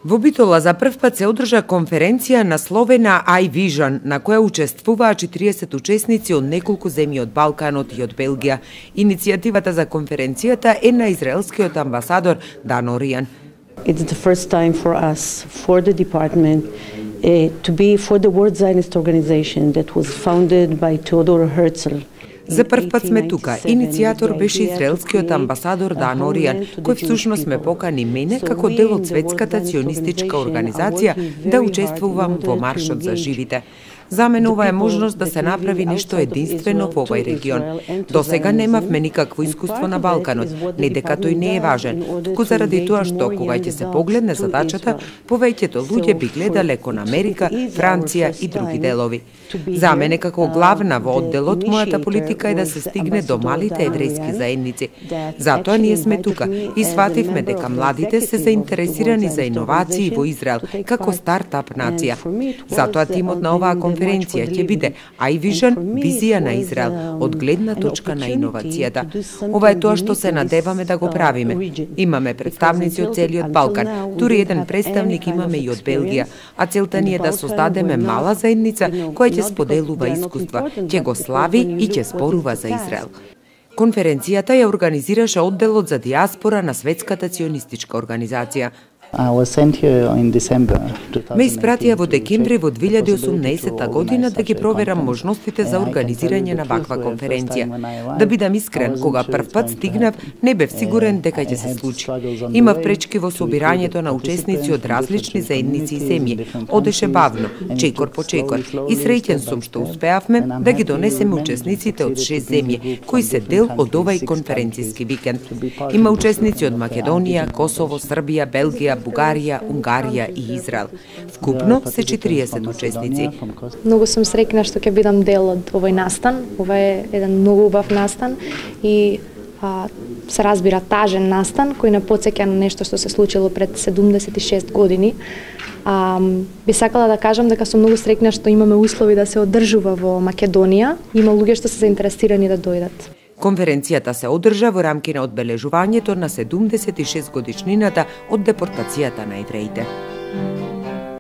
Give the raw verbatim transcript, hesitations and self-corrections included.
Во Битола за прв пат се одржа конференција насловена iVision, на која учествуваа четириесет учесници од неколку земји од Балканот и од Белгија. Иницијативата за конференцијата е на израелскиот амбасадор Дан Оријан. It's the first time for us, for the department, uh, to be for the World Zionist Organization that was founded by Theodor Herzl. За прв пат сме тука. Иницијатор беше израелскиот амбасадор Дан Оријан, кој всушност ме покани мене како дел од светската ционистичка организација да учествувам во маршот за живите. За мене ова е можност да се направи нешто единствено во овој регион. До сега немавме никакво искуство на Балканот, не дека тој не е важен, туку заради тоа што кога ќе се погледне задачата, повеќето луѓе би гледале кон Америка, Франција и други делови. За мене како главна во одделот, мојата политика е да се стигне до малите еврејски заедници. Затоа ние сме тука и свативме дека младите се заинтересирани за иновации во Израел како стартап нација. Затоа тимот на оваа конференција ќе биде iVision, визија на Израел од гледна точка на иновацијата. Ова е тоа што се надеваме да го правиме. Имаме представници од целиот Балкан, дури еден представник имаме и од Белгија, а целта ни е да создадеме мала заедница која ќе споделува искуства, ќе го слави и ќе спорува за Израел. Конференцијата ја организираше одделот за диаспора на Светската ционистичка организација. Ме испратија во декември во две илјади и осумнаесетта година да ги проверам можностите за организирање на ваква конференција. Да бидам искрен, кога прв пат стигнав, не бев сигурен дека ќе се случи. Имав пречки во собирањето на учесници од различни заедници и земји. Одеше бавно, чекор по чекор, и среќен сум што успеавме да ги донесеме учесниците од шест земји, кои се дел од овај конференцијски викенд. Има учесници од Македонија, Косово, Србија, Белгија, Бугарија, Унгарија и Израел. Вкупно се четириесет учесници. Многу сум среќна што ќе бидам дел од овој настан. Ова е еден многу убав настан и а, се разбира тажен настан кој не потсеќа на нешто што се случило пред седумдесет и шест години. А, би сакала да кажам дека сум многу среќна што имаме услови да се одржува во Македонија. Има луѓе што се заинтересирани да дојдат. Конференцијата се одржа во рамки на одбележувањето на седумдесет и шест годишнината од депортацијата на евреите.